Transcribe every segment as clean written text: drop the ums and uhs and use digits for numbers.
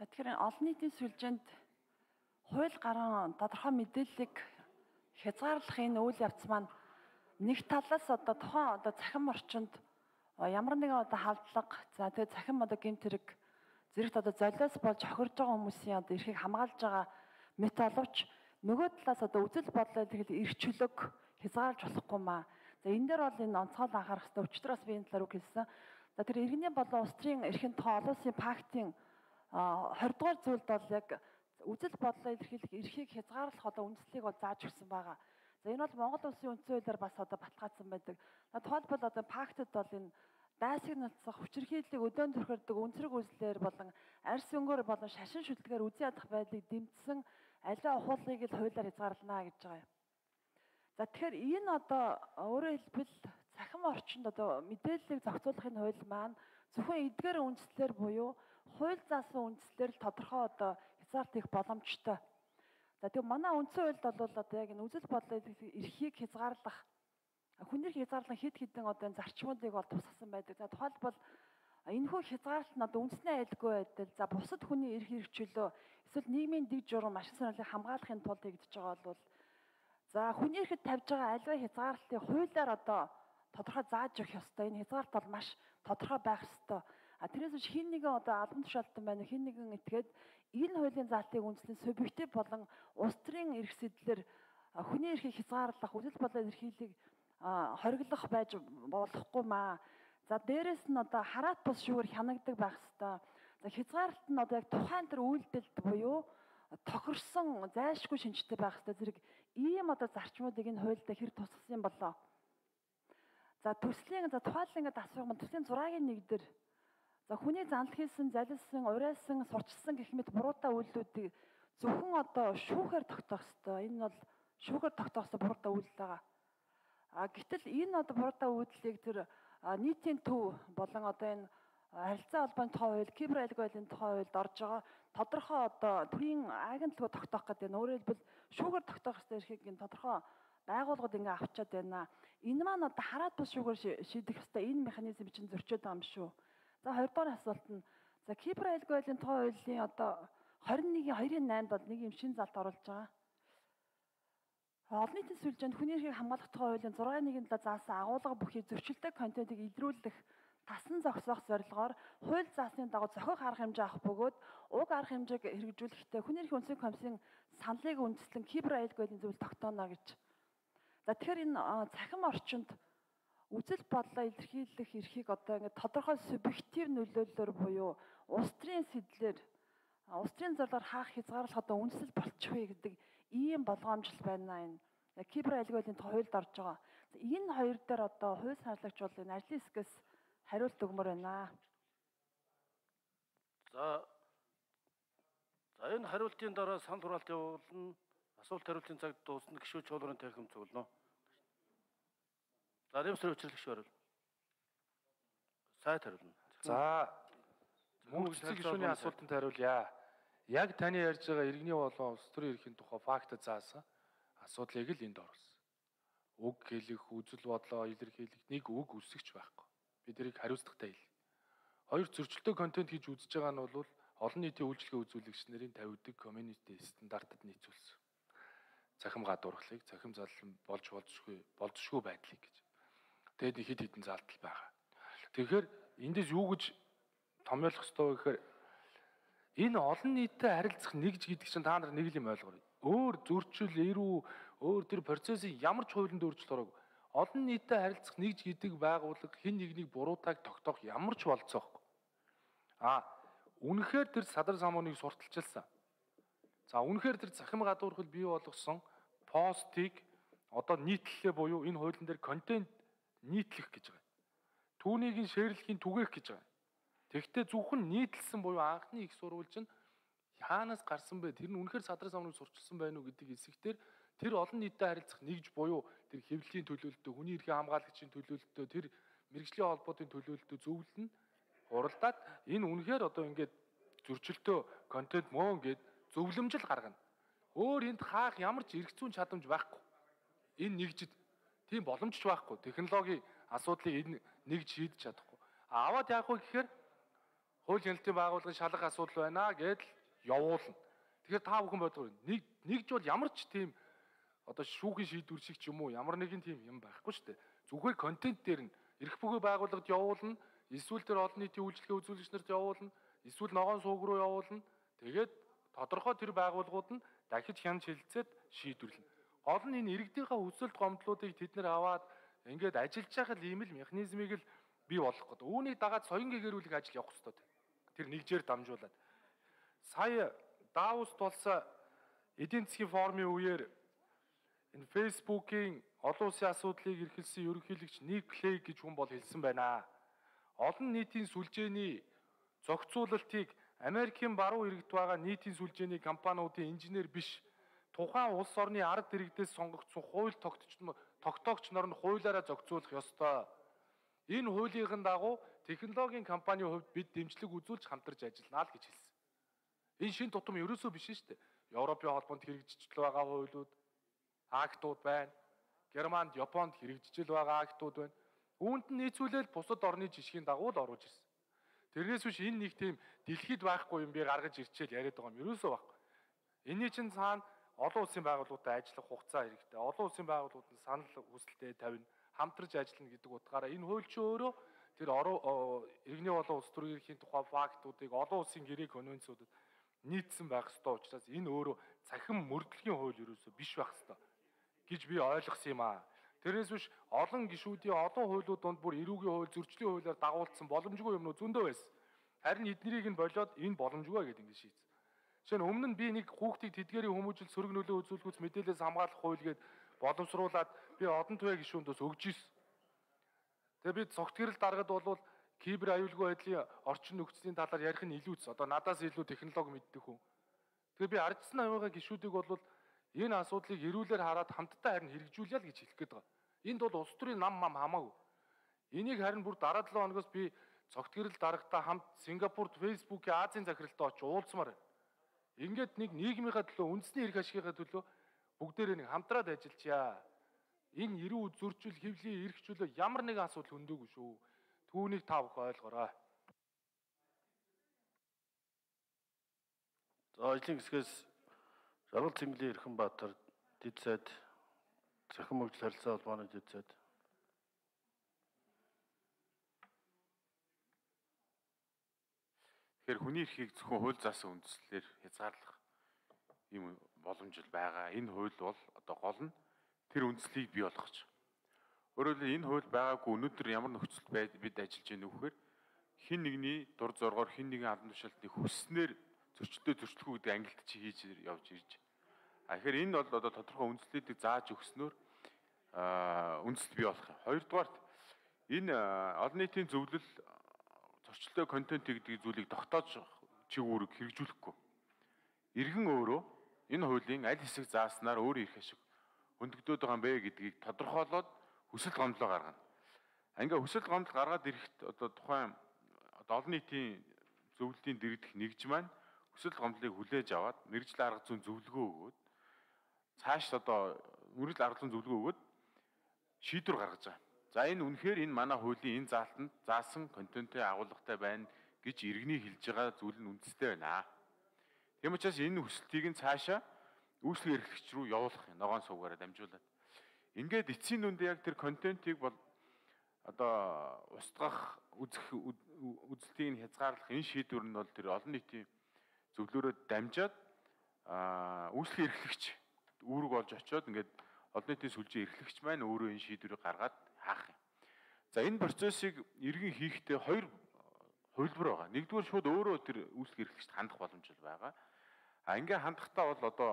За тэгэхээр олон нийтийн сүлжээнд хууль гаран тодорхой мэдээллийг хязгаарлах энэ үйл явц маань нэг талаас тухайн цахим орчинд ямар нэгэн халдлага за тэгээ цахим гэмт хэрэг зэрэгт золиос болж хохирж байгаа хүмүүсийн эрхийг хамгаалж байгаа мэт боловч нөгөө талаас үзэл бодлоо эрх чөлөөг хязгаарлаж болохгүй маа. За энэ дээр бол энэ онцгой анхаарах хэрэгтэй. Өчигдөр бас би энэ талаар үг хэлсэн. За тэр иргэний болон улс төрийн эрхийн тухай олон улсын пактын 20 дугаар зүйлд бол яг үзэл бодлоо илэрхийлэх эрхийг хязгаарлах үндслийг зааж өгсөн байгаа. За энэ бол Монгол улсын үндсэн хуулиар бас баталгаажсан байдаг. Тухайлбал пактад бол энэ дайсаг нацсах, хүчирхийллийг өдөөн төрхөрдөг өнцрөг үзлээр болон арьс өнгөөр болон шашин шүтлгээр үзий ядах байдлыг дэмжсэн аливаа ухуулгыг л хуулиар хязгаарлана гэж байгаа юм. За тэгэхээр энэ өөрөөр хэлбэл цахим орчинд мэдээллийг зохицуулахын хууль маань зөвхөн эдгээр үндслээр буюу хууль заасан үндслээр л тодорхой хязгаарлалт хийх боломжтой. За тэгээ манай үндсэн хуульд бол яг энэ үзэл бодлоо эрхийг хязгаарлах хүний эрхийг хязгаарлах хэд хэдэн энэ зарчмуудыг бол тусгасан байдаг. За тухайлбал энэхүү хязгаарлалт нь үндэсний айлгүй байдал, за бусад хүний эрх чөлөө, эсвэл нийгмийн дэг журам, ашиг сонирхлыг хамгаалахын тулд хийгдэж байгаа бол за хүний эрхэд тавьж байгаа аливаа хязгаарлалтыг хуулиар тодорхой зааж өгөх ёстой. Энэ хязгаарлалт бол маш тодорхой байх ёстой. Тэрээс биш хин нэгэн албан тушаалтан байна, хин нэгэн этгээд энэ хуулийн заалтыг үндэслэн субъектив болон улс төрийн эрх сэтлэр хүний эрхийг хязгаарлах, үзэл бодлоо эрхийлийг хориглох байж болохгүй маа. За дээрэс нь хараат бус шүүгээр хянагдаг байх ёстой. За хязгаарлалт нь яг тухайн тэр үйлдэлд буюу тохирсон зайлшгүй шинжтэй байх ёстой. Зэрэг ийм зарчмуудыг энэ хуульд хэр тусгасан юм болоо. За төслийн тухайлан асуух төслийн 6-гийн 1 дээр за хүний занал хийсэн, залилсан, урайсан, сурчилсан гэх мэт буруутай үйлдэлүүдийг зөвхөн шүүхээр тогтоох ёстой. Энэ бол шүүхээр тогтоох ёстой буруутай үйлдэл байгаа. Гэтэл энэ буруутай үйлдэлийг тэр нийтийн төв болон энэ харилцаа холбооны тухай хууль, кибер айлгой байдлын тухай хуульд орж байгаа тодорхой төрийн агентлаг тогтоох гэдэг нь өөрөөр хэлбэл шүүгээр тогтоох ёстой эрхийг энэ тодорхой байгууллагууд авчаад байна. Энэ маань хараат бус шүүгээр шийдэх ёстой энэ механизм чинь зөрчөөд байгаа юм шүү. За 2 дугаар асуулт нь за кибер айлгой байдлын тухай хуулийн 21/2-8 бол нэг юм шин залт оруулж байгаа. Олон нийтийн сүлжээнд хүний эрхийг хамгаалах тухай хуулийн 6-1-нд заасан агуулга бүхий зөрчилтэй контентыг илрүүлэх тасан зогсоох зорилгоор хууль заасны дагуу зохиох арга хэмжээ авах бөгөөд уг арга хэмжээг хэрэгжүүлэхдээ хүний эрхийн үндэсний комиссийн саналыг үндэслэн кибер айлгой байдлын зөвлөлд тогтооно гэж. За тэгэхээр энэ цахим орчинд үзэл бодлоо илэрхийлэх эрхийг ингээд тодорхой субъектив нөлөөллөөр буюу улс төрийн сэтлэр улс төрийн зорилгоор хаах хязгаарлах үндэслэл болчихвээ гэдэг ийм болгоомжл байна энэ. Кибер айлгой байдлын тухай хуульд орж байгаа. Энэ хоёр дээр хууль санаалагч бол энэ ажлын хэсгээс хариулт өгмөр байна. За энэ хариултын дараа санал хураалт явуулна. Асуулт хариултын цаг дуусна. Гишүүн чуулгын танхим зөвлөнө. За нэмсрийн хүчлэгч хариул. Сайд хариулна. За мөнх цэцэг гишүүний асуултанд хариулъя. Яг таны ярьж байгаа иргэний болон улс төрийн эрхийн тухай факт заасан асуудлыг л энд оруулсан. Үг хэлэх, үзэл бодлоо илэрхийлэх нэг үг үсгэж байхгүй. Бид тэрийг хариуцлагатай хэл. Хоёр зөрчилтэй контент хийж үзэж байгаа нь бол олон нийтийн үйлчлэгээ үзүүлэгч нарын тавьдаг community стандартад нийцүүлсэн. Цахим гадуурхлыг, цахим заллан болзошгүй байдлыг гэж. Тэгээд хэд хэдэн залтал байгаа. Тэгэхээр эндээс юу гэж томьёолох ёстой вэ гэхээр энэ олон нийтэд харилцах нэгж гэдэг чинь та нар нэг л юм ойлгоорой. Өөр зөрчил, эрүү, өөр тэр процессын ямар ч хуулинд өөрчлөлт ороогүй. Олон нийтэд харилцах нэгж гэдэг байгууллага хэн нэгнийг буруутайг тогтоох ямар ч болцоохгүй. Үнэхээр тэр садар самууныг сурталчилсан. За үнэхээр тэр цахим гадуурхал бий болгосон постыг нийтлэлээ буюу энэ хуулийн дээр контент нийтлэх гэж байгаа. Түүнийг шеэрлэхийн түгээх гэж байгаа. Тэгэхдээ зөвхөн нийтлсэн буюу анхны их сурвалж нь хаанаас гарсан бэ? Тэр нь үнэхээр садар самууныг сурчилсан байна уу гэдэг хэсэгтэр тэр олон нийтэд харилцах нэгж буюу тэр хэвлэлийн төлөөлөлтөө, хүний эрхийн хамгаалагчийн төлөөлөлтөө, тэр мэргэжлийн холбоотын төлөөлөлтөө зөвлөлн хуралдаад энэ үнэхээр ингээд зөрчилтөө контент мөн гэд зөвлөмжл гаргана. Өөр энд хаах ямар ч эрх зүйн чадамж байхгүй. Энэ нэгжид тийм боломж ч байхгүй. Технологийн асуудлыг энэ нэгж шийдэж чадахгүй. Аваад яах вэ гэхээр хууль хяналтын байгууллагын шалгах асуудал байна гэдэл явуулна. Тэгэхээр та бүхэн бодгоо нэгж бол ямар ч тийм одоо шүүхийн шийдвэр шиг ч юм уу ямар нэгэн тийм юм байхгүй шүү дээ. Зүгээр контент дээр нь эрх бүхий байгууллагад явуулна, эсвэл тэр олон нийтийн үйлчлэгээ үзүүлэгч нарт явуулна, эсвэл ногоон сууг руу явуулна. Тэгээд тодорхой тэр байгууллагууд нь дахиж хянаж хэлэлцээд шийдвэрлэнэ. Гол нь энэ иргэдийнхээ хүсэлт гомдлуудыг тэд нэр аваад ингээд ажиллаж байгаа ийм л механизмыг л бий болгох гэдэг. Үүнийг дагаад соён гэгэрүүлэх ажил явах хэрэгтэй. Тэр нэгжээр дамжуулаад. Сая Давост болсон эдийн засгийн форумын үеэр энэ Facebook-ийн олон улсын асуудлыг эрхэлсэн ерөнхийлөгч Ник Клей гэж хүн бол хэлсэн байна. Олон нийтийн сүлжээний зохицуулалтыг Америкийн баруун иргэд байгаа нийтийн сүлжээний компаниудын инженер биш, тухайн улс орны ард иргэдээс сонгогдсон хууль тогтоогч нар нь хуулиараа зохицуулах ёстой. Энэ хуулийн дагуу технологийн компанийн хувьд бид дэмжлэг үзүүлж хамтарч ажиллана л гэж хэлсэн. Энэ шин тутам ерөөсөө биш шүү дээ. Европын холбоонд хэрэгжижл байгаа хуулиуд, актууд байна. Германд, Японд хэрэгжижл байгаа актууд байна. Үүнд нь нийцүүлэл бусад орны жишгийн дагуу л оруулж ирсэн. Тэрнээс биш энэ нэг тийм дэлхийд байхгүй юм би гаргаж ирчээл яриад байгаа юм ерөөсөө байхгүй. Энийн чинь цаана олон улсын байгууллагуудтай ажиллах хугацаа хэрэгтэй. Олон улсын байгууллагууд нь санал хүсэлтэд тавина, хамтарч ажиллана гэдэг утгаараа энэ хууль чинь өөрөө тэр иргэний болон улс төрийн эрхийн тухай фактуудыг олон улсын гэрээ конвенцуудад нийцсэн байх ёстой учраас энэ өөрөө цахим мөрдлөгийн хууль ерөөсөө биш байх ёстой гэж би ойлгосон юм аа. Тэрнээс биш олон гишүүдийн олон хуулиуд донд бүр эрүүгийн хууль, зөрчлийн хуулиар дагуулсан боломжгүй юмнууд зөндөө байсан. Харин эднэрийг нь болоод энэ боломжгүй гэдэг ингэ шийдсэн. Жишээ нь өмнө нь би нэг хүүхдийг тэдгээрийн хүмүүжил сөрөг нөлөө үзүүлэхүйц мэдээлэлээс хамгаалах хууль гээд боловсруулад би одон туяа гишүүндөөс өгж ирсэн. Тэгээ би цогтгэрэл даргад бол кибер аюулгүй байдлын орчин нөхцөлийн талаар ярих нь илүүц. Одоо надаас илүү технологи мэддэг хүн. Тэгээ би ардсан авигаа гишүүдийг бол энэ асуудлыг эрүүлэр хараад хамтдаа харин хэрэгжүүлъя л гэж хэлэх гээд байгаа. Энд бол улс төрийн нам хамаагүй. Энийг харин бүр дараа 7 хоногоос би цогтгэрэл дарагтаа хамт Сингапурт Facebook-ийн Азийн захиралтай очиж уулзмаар байна. Ингээд нэг нийгмийнхаа төлөө, үндэсний эрх ашигынхаа төлөө бүгдээрээ нэг хамтраад ажиллачаа. Энэ эрүү зөрчил, хэвлийн эрх чөлөө ямар нэгэн асуудал хөндөөгүй шүү. Түүнийг та бүхэн ойлгоорой. За ажлын хэсгээс Жаргал Цэнглийн Эрхэнбаатар дэд сайд Захин мөржил харилцаа холбооны дэд сайд. Тэгэхээр хүний эрхийг зөвхөн хууль заасан үндслээр хязгаарлах юм боломж байгаа. Энэ хууль бол одоо гол нь тэр үндслийг бий болгоч. Өөрөөр хэлбэл энэ хууль байгаагүй өнөөдөр ямар нөхцөл бид ажиллаж байна вэ гэхээр хин нэгний дур зоргоор хин нэгэн албан тушаалтыг хүснээр зөрчилдөө зөрчлөхүү гэдэг ангилт чи хийж явж ирж. Тэгэхээр энэ бол одоо тодорхой үндслүүдийг зааж өгснөөр үндсэл бий болох юм. Хоёрдугаарт энэ олон нийтийн зөвлөл зөрчилдөө контент гэдэг зүйлийг тогтоож чигүүрэг хэрэгжүүлэхгүй. Иргэн өөрөө энэ хуулийн аль хэсэг зааснаар өөр ирэх ашиг хөндөгдөд байгаа юм бэ гэдгийг тодорхойлоод хүсэл гомдлоо гаргана. Ингээ хүсэл гомдол гаргаад ирэхэд одоо тухайн олон нийтийн зөвлөлийн дэргэдэх нэгж маань хүсэл гомдлыг хүлээж аваад мэргэжил арга зүйн зөвлөгөө өгөөд цааш одоо мөрөл арга зүйн зөвлөгөө өгөөд шийдвэр гаргаж байгаа. За энэ үнэхээр энэ манай хуулийн энэ заалтанд заасан контентын агуулгатай байна гэж иргэний хэлж байгаа зүйл нь үндэстэй байна. Тийм учраас энэ хүсэлтийг нь цаашаа үйлчлэг эрхлэгч рүү явуулах юм. Ногоон сувгаараа дамжуулаад. Ингээд эцсийн дүндээ яг тэр контентыг бол одоо устгах үзэлтийг нь хязгаарлах энэ шийдвэр нь бол тэр олон нийтийн зөвлөөрөд дамжаад үйлчлэг эрхлэгч үүрэг болж очиод ингээд олон нийтийн сүлжээ эрхлэгч маань өөрөө энэ шийдвэрийг гаргаад хаах юм. За энэ процессыг иргэн хийхдээ хоёр хувилбар байгаа. Нэгдүгээр шууд өөрөө тэр үйлчлэг эрхлэгчд хандах боломжтой байгаа. Ингээ хандахтаа бол одоо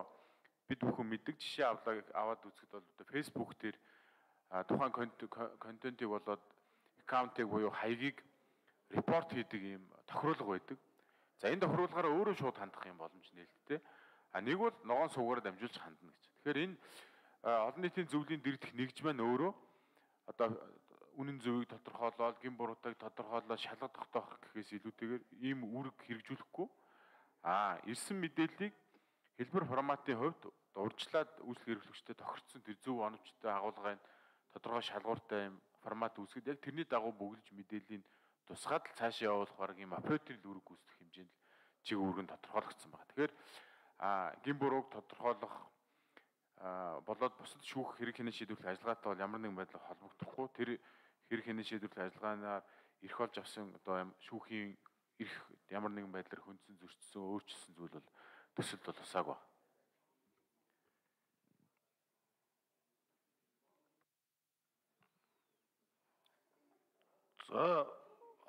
бид бүхэн мэддэг жишээ аваад үзэхэд бол одоо Facebook дээр тухайн контентыг болоод аккаунтыг буюу хаягийг репорт хийдэг юм тохируулга байдаг. За энэ тохируулгаараа өөрөө шууд хандах юм боломж нээлттэй. Нэг бол ногоон сувгаараа дамжуулж хандна гэж. Тэгэхээр энэ олон нийтийн зөвлөлийн дэргэдэх нэгж маань өөрөө одоо үнэн зөвийг тодорхойлоод, гин буруутайг тодорхойлоод шалгах тогтоох гэхээс илүүтэйгээр ийм үүрэг хэрэгжүүлэхгүй ирсэн мэдээллийг хэлбэр форматын хувьд урьдчилаад үйлчлэг эрхлэгчтэй тохирцсон тэр зөв оновчтой агуулгын тодорхой шалгууртай юм формат үүсгэд яг тэрний дагуу бүглэж мэдээллийн тусгаад л цаашаа явуулах бараг юм апотрил үүрэг гүйцэтгэх хэмжээнд чиг үүрэг нь тодорхойлогдсон байна. Тэгэхээр гин бурууг тодорхойлох болоод бусад шүүх хэрэг хянах шийдвэрлэх ажиллагаатай бол ямар нэгэн байдлаар холбогдохгүй. Тэр хэрэг хянах шийдвэрлэх ажиллагаанаар эрх олж авсан одоо шүүхийн эрх ямар нэгэн байдлаар хөндсөн, зөрчсөн, өөрчилсөн зүйл бол төсөлд бол усаагүй. За,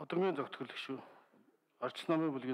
одоогийн зохицол шүү. Арч намын бүлгийн